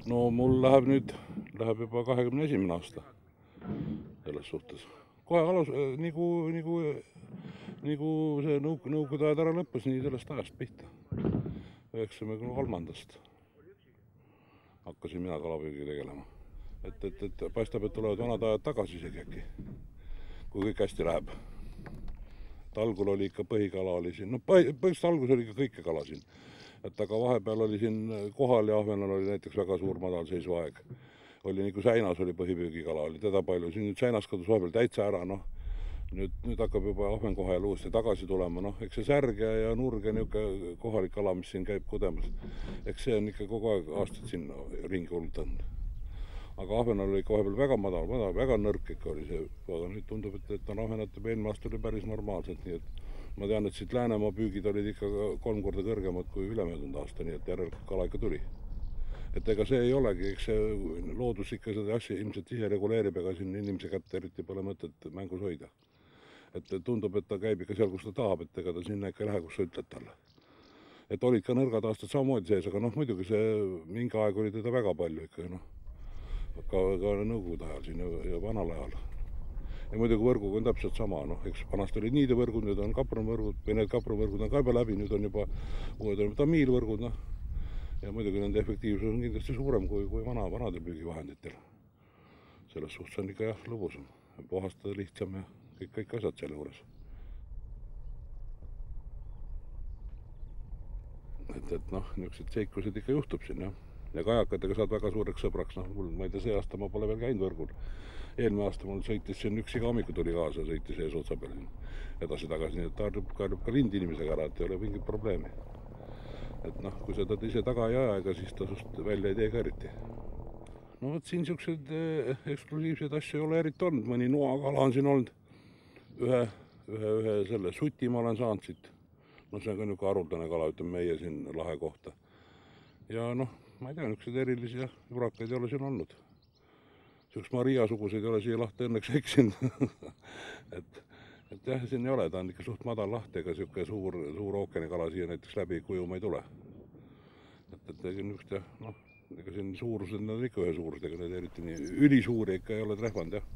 No mul läheb juba 21. aasta selles suhtes. Kohe alus, nagu see nõukogude ajad ära lõppes, nii sellest ajast pihta. 93. hakkasin mina kalapüügi tegelema. Et paistab, et tulevad vanad ajad tagasi isegi äkki, kui kõik hästi läheb. Et algul oli ikka põhikala oli siin, no põhimõtteliselt algus oli ikka kõike kala siin. Et aga vahepeal oli siin kohal ja ahvenal oli näiteks väga suur madalseisuaeg. Oli nagu Säinas oli põhipüügikala, oli teda palju. Siin nüüd Säinas kadus vahepeal täitsa ära, noh. Nüüd hakkab juba ahven kohe uuesti tagasi tulema, noh. Eks see särge ja nurge niuke kohalik kala, mis siin käib kudemas. Eks see on ikka kogu aeg aastad siin ringi hultanud. Aga ahvenal oli ikka vahepeal väga madal, väga nõrk ikka oli see. Aga nüüd tundub, et on ahvenate eelmine aasta oli päris normaalselt, nii et ma tean, et siit Läänemaa püügid olid ikka 3 korda kõrgemad kui ülemöödunud aasta, nii et järelikult kala ikka tuli. Et ega see ei olegi, eks see loodus ikka seda asja ilmselt ise reguleerib, ega siin inimese kätte eriti pole mõtet mängus hoida. Et tundub, et ta käib ikka seal, kus ta tahab, et ega ta sinna ikka ei lähe, kus sa ütled talle. Et olid ka nõrgad aastad samamoodi sees, aga noh, muidugi see mingi aeg oli teda väga palju ikka, noh. Ka nõukogude ajal siin ja vanal ajal. Ja muidugi võrguga on täpselt sama, noh, eks vanast oli niidevõrgud, nüüd on kapruvõrgud, või need kapruvõrgud on ka juba läbi, nüüd on juba uued on tamiilvõrgud, noh. Ja muidugi nende efektiivsus on kindlasti suurem kui vanade püügivahenditel. Selles suhtes on ikka jah lõbusam, puhastada lihtsam ja kõik asjad selle juures. Et noh, niisugused seiklused ikka juhtub siin, jah. Ja kajakatega saad väga suureks sõbraks, noh, ma ei tea, see aasta ma pole veel käinud võrgul. Eelmine aasta mul sõitis siin üks iga hommiku tuli kaasa, sõitis ees otsa peal edasi-tagasi, nii et ta harjub ka lindinimesega ära, et ei ole mingit probleemi. Et noh, kui sa ta ise taga ei aja, ega siis ta sust välja ei tee ka eriti. No võt siin siuksed eksklusiivsed asju ei ole eriti olnud, mõni noakala on siin olnud. Ühe selle suti ma olen saanud siit. No see on ka niuke haruldane kala, ütleme meie siin lahe kohta. Ja noh, ma ei tea, niisugused erilisi ja jurakaid ei ole siin olnud. Siuks Maria-suguseid ei ole siia lahte õnneks eksinud. et jah, siin ei ole, ta on ikka suht madal lahti, ega siuke suur ookeanikala siia näiteks läbi kujuma ei tule. Et niisugust jah, noh, ega siin suurused, need on ikka ühe suurused, ega need eriti nii ülisuuri ikka ei ole trehvanud, jah.